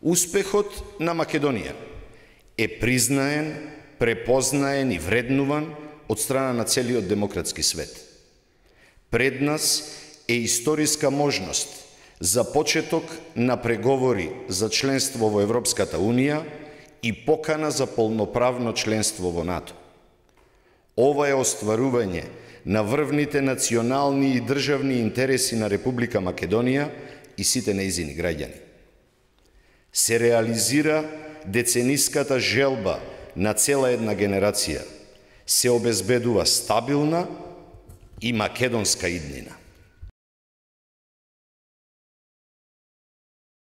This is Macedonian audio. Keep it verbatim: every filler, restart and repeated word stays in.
Успехот на Македонија е признаен, препознаен и вреднуван од страна на целиот демократски свет. Пред нас е историска можност за почеток на преговори за членство во Европската Унија и покана за полноправно членство во НАТО. Ова е остварување на врвните национални и државни интереси на Република Македонија и сите нејзини граѓани. Се реализира децениската желба на цела една генерација, се обезбедува стабилна и македонска иднина.